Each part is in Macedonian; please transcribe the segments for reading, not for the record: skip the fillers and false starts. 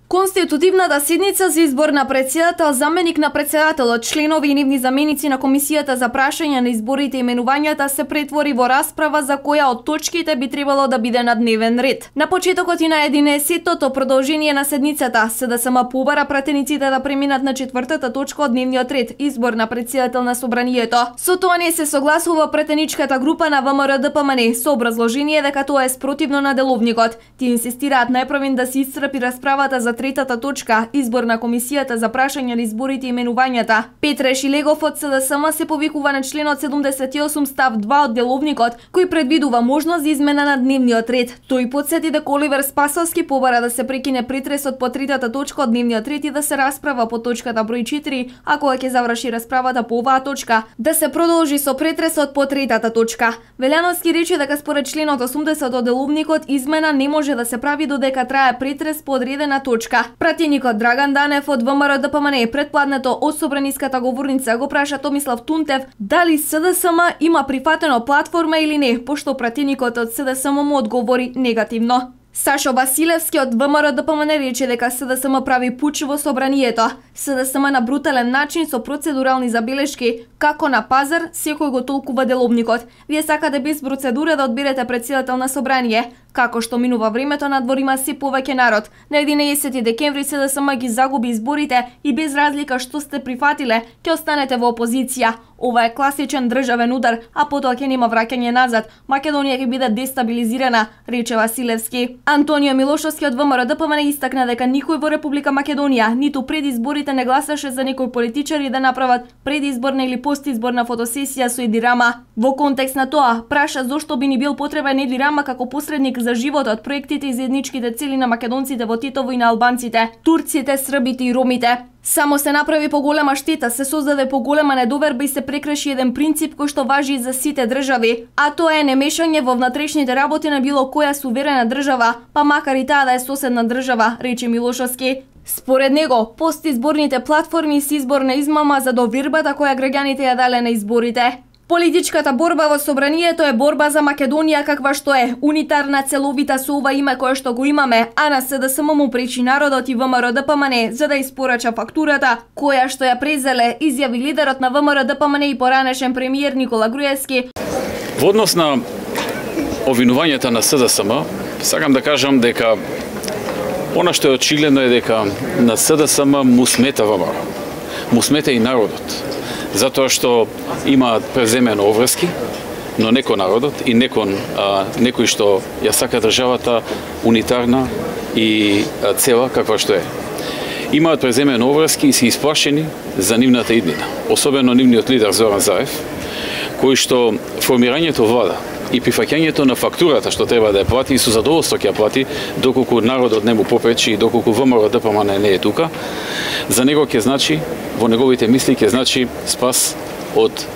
Конститутивната седница за избор на претседател, заменик на претседателот, членови и нивни заменици на комисијата за прашање на изборите и именувањата се претвори во расправа за која од точките би требало да биде на дневен ред. На почетокот и на 11-тото продолжение на седницата, СДСМ побара пратениците да преминат на 4-та точка од дневниот ред, избор на претседател на собранието. Со тоа не се согласува претеничката група на ВМРО-ДПМН со образложение дека тоа е спротивно на деловникот. Тие инсистираат најпрвен да се исцрпи расправата за третата точка, избор на комисијата за прашање на изборите и именувањата. Петре Шилегов од СДСМ се повикува на членот 78 став 2 од деловникот, кој предвидува можност за измена на дневниот ред. Тој потсети дека Оливер Спасовски побара да се прекине претресот по третата точка од дневниот ред и да се расправа по точката број 4, а кога ќе заврши расправата по оваа точка, да се продолжи со претресот по третата точка. Велјановски рече дека според членот 80 од деловникот измена не може да се прави додека трае претрес по одредена точка. Пратеникот Драган Данев од ВМРО-ДПМН предпладнето од собраниската говорница го праша Томислав Тунтев дали СДСМ има прифатено платформа или не, пошто пратеникот од СДСМ му одговори негативно. Сашо Василевски од ВМРО-ДПМН рече дека СДСМ прави пуч во собранието. СДСМ на брутален начин со процедурални забелешки, како на пазар, секој го толкува деловникот. Вие сакате без процедура да одберете претседател на собрание. Како што минува времето, надвор има се повеќе народ. На 11 декември СДСМ ги загуби изборите и без разлика што сте прифатиле, ќе останете во опозиција. Ова е класичен државен удар, а потоа ќе нема враќање назад. Македонија ќе биде дестабилизирана, рече Василевски. Антонио Милошовски од ВМРО-ДПМН истакна дека никој во Република Македонија ниту пред изборите не гласаше за некои политичари да направат предизборна или постизборна фотосесија со Еди Рама. Во контекст на тоа, праша зошто би ни бил потребен Еди Рама како посредник за животот, проектите и заедничките цели на македонците во Титово и на албанците, турците, србите и ромите. Само се направи поголема штета, се создаде поголема недоверба и се прекрши еден принцип кој што важи за сите држави, а тоа е немешање во внатрешните работи на било која суверена држава, па макар и таа да е соседна држава, рече Милошовски. Според него, постизборните платформи се изборна измама за довербата која граѓаните ја дале на изборите. Политичката борба во собранието е борба за Македонија каква што е, унитарна, целовита со ова име кое што го имаме, а на СДСМ му пречи народот и ВМРО-ДПМН за да испорача фактурата, која што ја презеле, изјави лидерот на ВМРО-ДПМН и поранешен премиер Никола Груевски. Во однос на обвинувањата на СДСМ, сакам да кажам дека она што е очигледно е дека на СДСМ му смета ВМРО, му смета и народот. Затоа што има преземено обврски, но не кон народот и не кон некој што ја сака државата унитарна и цела каква што е. Имаат преземено обврски и се исплашени за нивната иднина, особено нивниот лидер Зоран Заев, кој што формирањето влада и прифаќањето на фактурата што треба да ја плати и со задоволство ќе ја плати доколку народот не му попречи и доколку ВМРО-ДПМН не е тука, за него ќе значи, во неговите мисли ќе значи спас од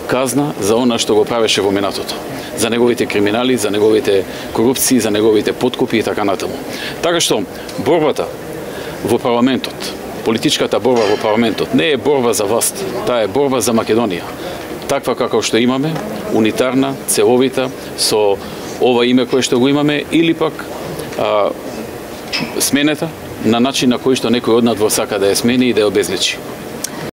казна за она што го правеше во минатото, за неговите криминали, за неговите корупции, за неговите подкупи и така натаму. Така што борбата во парламентот, политичката борба во парламентот не е борба за власт, таа е борба за Македонија. Таква како што имаме, унитарна, целовита, со ова име кое што го имаме, или пак сменета на начин на кој што некој од надвор сака да ја смени и да ја обезличи.